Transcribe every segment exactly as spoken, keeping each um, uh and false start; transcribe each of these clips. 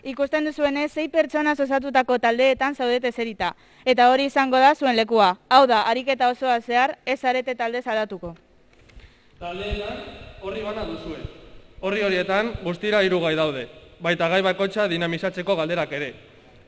Ikusten duzuenez, sei pertsona osatutako taldeetan zaudete zerita, eta hori izango da zuen lekua. Hau da, ariketa osoa zehar, ez zarete talde aldatuko. Taldeetan horri bana duzue. Horri horietan guztira hiru gai daude, baita gai bakoitza dinamizatzeko galderak ere.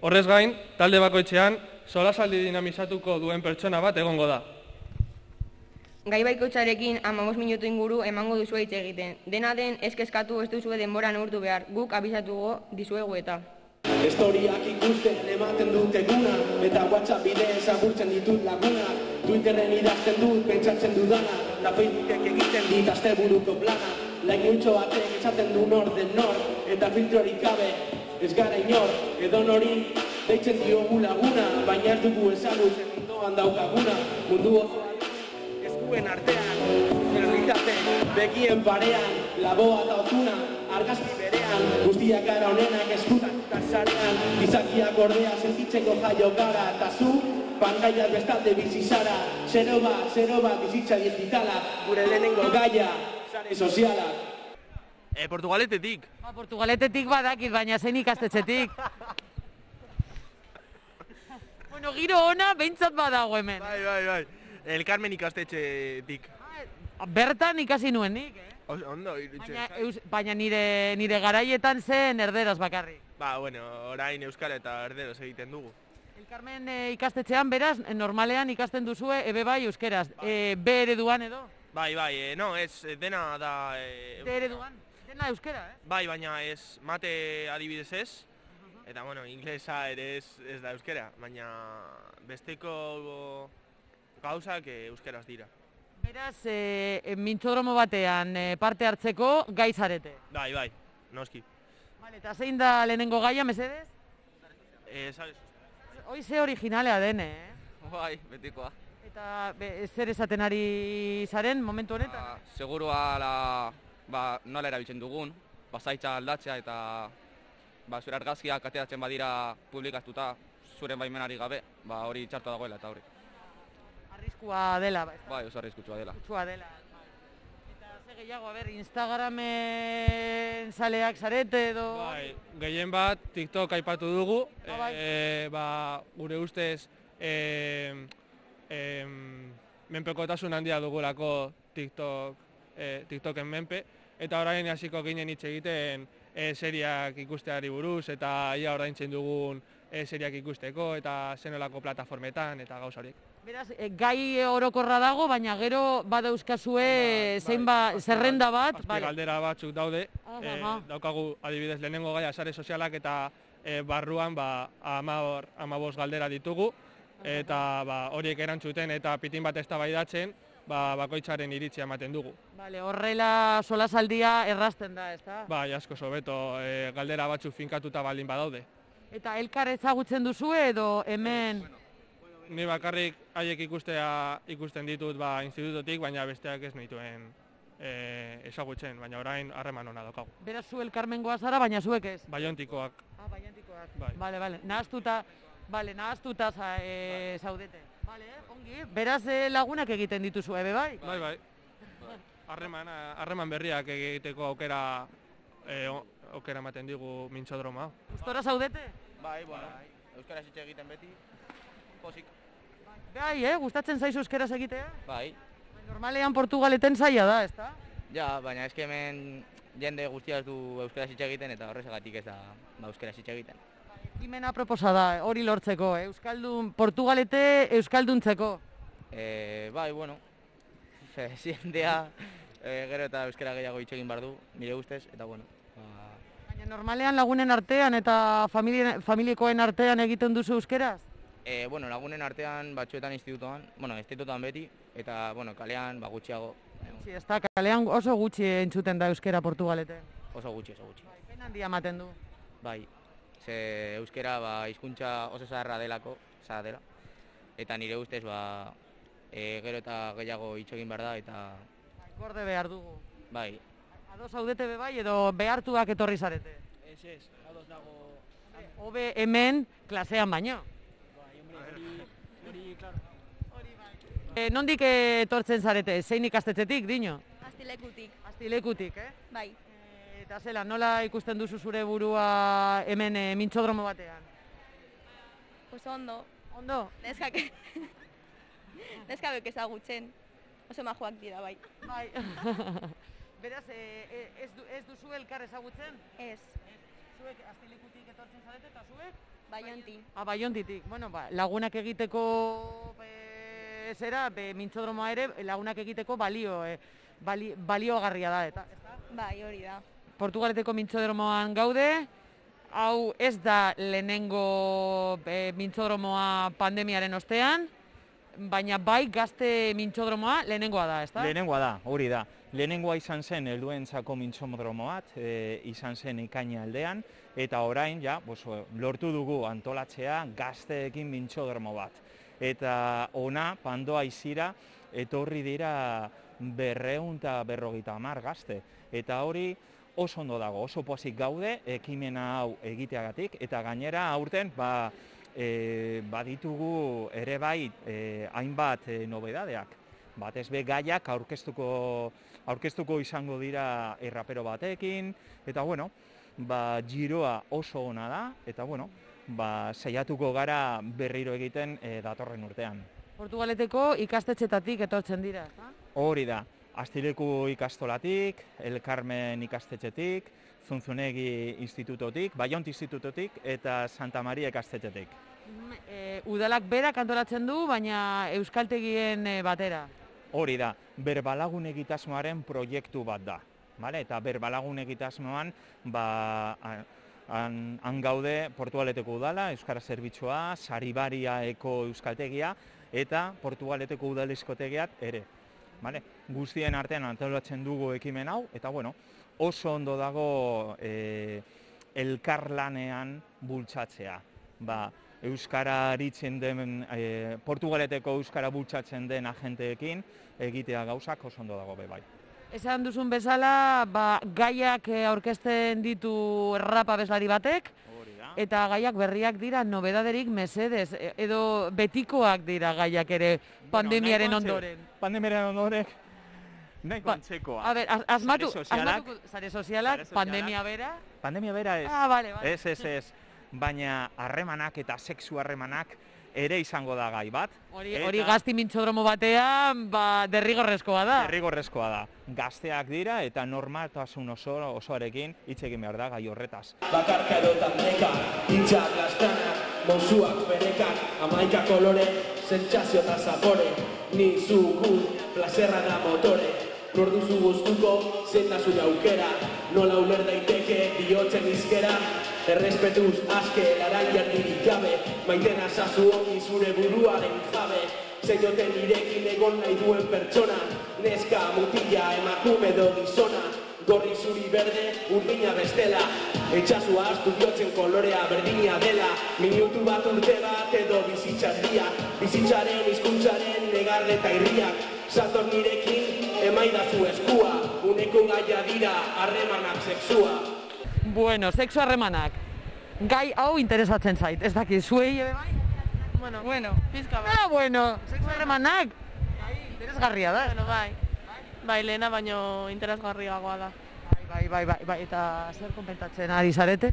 Horrez gain, talde bakoitzean solasaldi dinamizatuko duen pertsona bat egongo da. Gai bakoitzarekin hamabost minutu inguru emango duzue hitz egiten. Dena den ez kezkatu ez duzue denbora neurtu behar, guk abisatuko dizuegu eta. Historiak ikusten ematen dut eguna, eta WhatsApp bidez agurtzen ditut laguna. Twitterren idazten dut, pentsatzen dudana, eta Facebookek egiten dit asteburuko plana. Lain multxo batek esaten du nor den nor, eta filtrorik gabe ez gara inor. Edo nori deitzen diogu laguna, baina ez dugu ezagutzen ondoan daukaguna. Mundu osoan eskuen artean, realitate begien parean, laboa eta otuna, argazki berean, guztiak gara honenak eskutan eta sarean, gizakiak ordea sentitzeko jaio gara, eta zu, pantaiak bestalde bizi zara, zero bat, zero bat bizitza digitala, gure lehenengo gaia, sare sozialak. E, Portugaletetik. Ba, Portugaletetik badakit, baina zein ikastetxetik. Bueno, giro ona behintzat badago hemen. Bai, bai, bai. El Carmen ikastetxetik. Bertan ikasi nuen nik, eh? Ondo, irutxe. Baina, eus, baina nire, nire garaietan zen erderaz bakarrik. Ba, bueno, orain euskara eta erderaz egiten dugu. El Carmen e, ikastetxean beraz, normalean ikasten duzue ebe bai euskeraz. E, B ereduan edo? Bai, bai, e, no, ez, dena da... E, D ereduan? Dena euskera, eh? Bai, baina ez, mate adibidez ez, eta, bueno, inglesa ere ez, ez da euskera, baina besteko gauzak e, euskeraz dira. Beraz, e, mintzodromo batean e, parte hartzeko gai zarete? Bai, bai, noski. Vale, eta zein da lehenengo gaia, mesedez? Eh, sabes? Hoi ze originalea den, eh? Bai, betikoa. Eta be, zer esaten ari zaren momentu honetan? Ba, segurua la, ba, nola erabiltzen dugun, bazaitza aldatzea eta ba, zure argazkiak ateratzen badira publikatuta zuren baimenari gabe, ba, hori txartu dagoela eta hori. Arriskua dela, ba? Bai, oso arriskutsua dela. Arriskutsua dela. Eta ze gehiago, a ber, Instagramen zaleak zarete edo... Bai, gehien bat TikTok aipatu dugu, Ah, bai. e, ba, gure ustez e, e, menpekotasun handia dugulako TikTok, e, TikToken menpe, eta orain hasiko ginen hitz egiten e, seriak ikusteari buruz, eta ia ordaintzen dugun e, seriak ikusteko, eta zenolako plataformetan, eta gauza horiek. Beraz, e, gai orokorra dago, baina gero badauzkazue zein ba, zerrenda bat. Azpi galdera batzuk daude, Aha, e, aha. daukagu adibidez lehenengo gaia sare sozialak eta e, barruan ba, amabor, amabos galdera ditugu, eta ba, horiek erantzuten eta pitin bat eztabaidatzen, ba, bakoitzaren iritzia ematen dugu. Vale, horrela solasaldia errazten da, ezta? Bai, asko sobeto, e, galdera batzuk finkatuta baldin badaude. Eta elkar ezagutzen duzue edo hemen... Ni bakarrik haiek ikustea ikusten ditut ba, institutotik, baina besteak ez nituen e, ezagutzen, baina orain harreman hona daukagu. Beraz zu elkarmengoa zara, baina zuek ez? Baiontikoak. Ah, baiantikoak. Bai. Bale, bale. Nahaztuta, bale, nahaztuta za, e, zaudete. Bale, ongi. Beraz e, lagunak egiten dituzu, ebe bai? Bai, bai. Harreman, harreman berriak egiteko aukera e, aukera ematen digu mintzodroma. Gustora zaudete? Bai, bueno, euskaraz hitz egiten beti, pozik. Bai, eh? Gustatzen zaizu euskeraz egitea? Bai. Normalean Portugaleten zaila da, ezta? Ja, baina eske hemen jende guztia ez du euskaraz hitz egiten eta horrezagatik ez da ba, euskaraz hitz egiten. Ekimena proposa da, hori lortzeko, eh? Euskaldun, Portugalete euskalduntzeko. E, bai, bueno, jendea e, gero eta euskara gehiago hitz egin behar du, nire ustez, eta bueno. Ba... Baina normalean lagunen artean eta familie, familiekoen artean egiten duzu euskeraz? E, bueno, lagunen artean batzuetan institutoan, bueno, institutoan beti, eta bueno, kalean ba, gutxiago. Sí, ez da, kalean oso gutxi entzuten da euskera Portugaleten. Oso gutxi, oso gutxi. Bai, pena handia ematen du. Bai, ze euskera ba, hizkuntza oso zaharra delako, zaharra dela. Eta nire ustez, ba, e, gero eta gehiago hitz egin behar da, eta... Bai, gorde behar dugu. Bai. Ados zaudete be bai, edo behartuak etorri zarete? Ez, ez, ados dago... Hobe hemen klasean baino. Hori, klaro. E, nondik etortzen zarete? Zein ikastetxetik, dino? Astilekutik. Astilekutik, eh? Bai. E, Eta zela, nola ikusten duzu zure burua hemen e, mintzodromo batean? Pues ondo. Ondo? Neskak, neskabek ezagutzen. Oso majoak dira, bai. Bai. Beraz, e, ez, du, ez duzu elkar ezagutzen? Ez. Zuek Azpilikutik etortzen zarete eta zuek? Baionti. Ah, Baiontitik. Bueno, ba, lagunak egiteko e, zera, be, mintzodromoa ere lagunak egiteko balio, e, bali, baliogarria da, eta? Bai, hori da. Portugaleteko mintzodromoan gaude, hau ez da lehenengo e, mintzodromoa pandemiaren ostean, baina bai gazte mintzodromoa lehenengoa da, ezta? Lehenengoa da, hori da. Lehenengoa izan zen helduentzako mintzodromo bat, e, izan zen ikaina aldean, eta orain ja, bos, lortu dugu antolatzea gazteekin mintzodromo bat. Eta ona, pandoa izira, etorri dira berreun eta berrogeita hamar gazte. Eta hori oso ondo dago, oso pozik gaude, ekimena hau egiteagatik, eta gainera aurten, ba, e, baditugu ere bai e, hainbat e, nobedadeak. Batez be gaiak aurkeztuko, aurkeztuko izango dira errapero batekin, eta bueno, ba, giroa oso ona da, eta bueno, ba, saiatuko gara berriro egiten e, datorren urtean. Portugaleteko ikastetxetatik etortzen dira, ezta? Hori da, Aztileku ikastolatik, El Carmen ikastetxetik, Zunzunegi institutotik, Baiont institutotik eta Santa Maria ikastetxetik. E, udalak berak antolatzen du, baina euskaltegien e, batera. Hori da, berbalagun egitasmoaren proiektu bat da. Vale? Eta berbalagun egitasmoan, ba, han, han gaude Portugaleteko udala, Euskara Zerbitzua, Saribariaeko euskaltegia eta Portugaleteko udalezkotegiak ere. Vale? Guztien artean antolatzen dugu ekimen hau, eta bueno, oso ondo dago e, elkarlanean bultzatzea. Ba, Euskara aritzen den, e, Portugaleteko Euskara bultzatzen den agenteekin egitea gauzak oso ondo dago be bai. Esan duzun bezala, ba, gaiak aurkezten ditu rap abeslari batek, eta gaiak berriak dira nobedaderik mesedez, edo betikoak dira gaiak ere pandemiaren bueno, ondoren. Pandemiaren ondoren, nahiko antzekoa. A ber, asmatu, Sare sozialak, asmatuko, sare sozialak, pandemia bera. Pandemia bera ez. Ah, vale, vale. Ez, ez, ez. Baina harremanak eta sexu harremanak ere izango da gai bat. Hori, hori gazti mintzodromo batean, ba, derrigorrezkoa da. Derrigorrezkoa da. Gazteak dira eta normaltasun oso, osoarekin hitz egin behar da gai horretaz. Bakarka edo tandeka, hitzak lastanak, mozuak berekak, amaika kolore, sentsazio eta zapore, ni zu gu, plazerra da motore, nor duzu guztuko, zein da zure aukera, nola uler daiteke bihotzen izkera, errespetuz aske laraiak dirik gabe, maitena zazu honi zure buruaren jabe, zeioten irekin egon nahi duen pertsona, neska, mutila, emakume edo gizona, gorri zuri berde, urdina bestela, etxasua astu biotzen kolorea berdina dela, minutu bat urte bat edo bizitzardia, bizitzaren hizkuntzaren negarre eta irriak, zator nirekin emaidazu eskua, uneko gaia dira harremanak sexua. Bueno, sexu harremanak. Gai hau interesatzen zait, ez dakit, zuei ebe bai? Bueno, bueno, pizka bai. Ah, bueno, sexu harremanak. Gai, interesgarria da. Bueno, bai. Bai, lehena baino interesgarriagoa da. Bai, bai, bai, bai, eta zer konpentatzen ari zarete?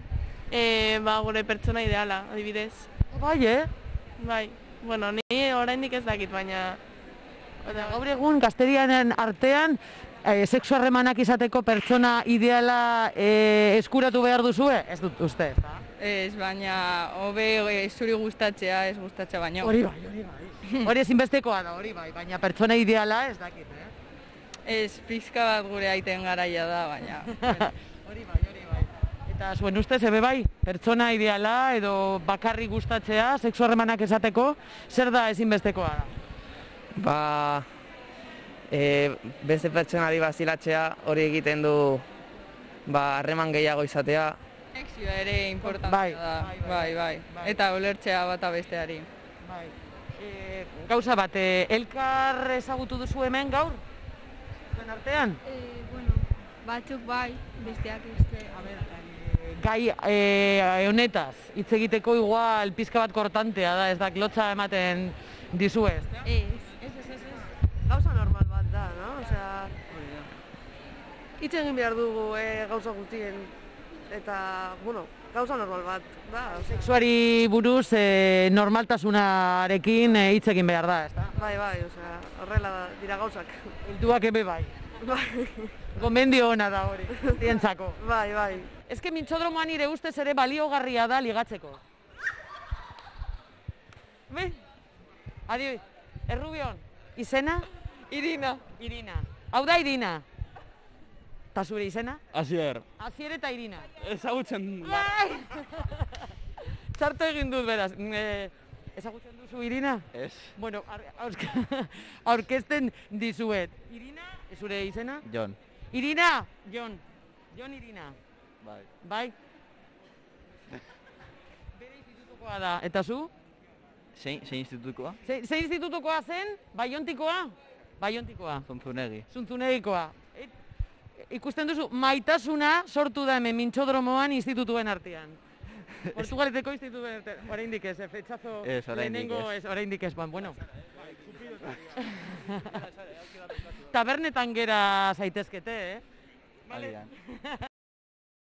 Eh, ba, gure pertsona ideala, adibidez. Bai, eh? Bai. Bueno, ni oraindik ez dakit, baina gaur egun gazterianen artean e, sexu harremanak izateko pertsona ideala e, eskuratu behar duzue? Ez dut uste, ezta? Ez, baina hobe e, zuri gustatzea, ez gustatzea baino. Hori bai, hori bai. Hori ezinbestekoa da, hori bai, baina pertsona ideala ez dakit, eh? Ez, pizka bat gure aiten garaia da, baina. Hori bai, hori bai. Eta zuen ustez, ebe bai, pertsona ideala edo bakarrik gustatzea, sexu harremanak esateko, zer da ezinbestekoa da? Ba, e, beste pertsonari bazilatzea hori egiten du ba, harreman gehiago izatea. Sexua ere importantea bai, da, bai, bai, bai, bai. bai. Eta ulertzea bata besteari. Bai. E, gauza bat, e, elkar ezagutu duzu hemen gaur? Zuen artean? E, bueno, batzuk bai, besteak ez. A ber, e, gai e, honetaz, hitz egiteko igual pizka bat kortantea da, ez da, lotza ematen dizu ez? Ez. Ez, ez, ez, ez. Gauza normal bat da, no? Osea, hitz egin behar dugu e, gauza guztien, eta, bueno, gauza normal bat, da. Sexuari buruz e, normaltasunarekin e, hitz egin behar da, ezta? Bai, bai, osea, horrela dira gauzak. Helduak ebe bai. Bai. Gomendio ona da hori, zientzako. Bai, bai. Ez que mintxodromoan nire ustez ere baliogarria da ligatzeko. Be? Adio, Errubion, izena? Irina. Irina. Hau da Irina. Ta zure izena? Asier. Asier eta Irina. Ezagutzen da. Txarto egin dut beraz. E, ezagutzen duzu Irina? Ez. Bueno, aurkezten dizuet. Irina, zure izena? Jon. Irina, Jon. Jon Irina. Bai. Bai. Bere institutukoa da. Eta zu? Zein, zein institutukoa? Zein ze institutukoa zen? Baiontikoa? Baiontikoa. Zuntzunegi. Zuntzunegikoa. Et, ikusten duzu, maitasuna sortu da hemen mintxodromoan institutuen artean. Portugaleteko institutuen artean. Oraindik ez, fetxazo ez, oraindik lehenengo ez. ez, oraindik ez, bueno. Tabernetan gera zaitezkete, eh? Agian.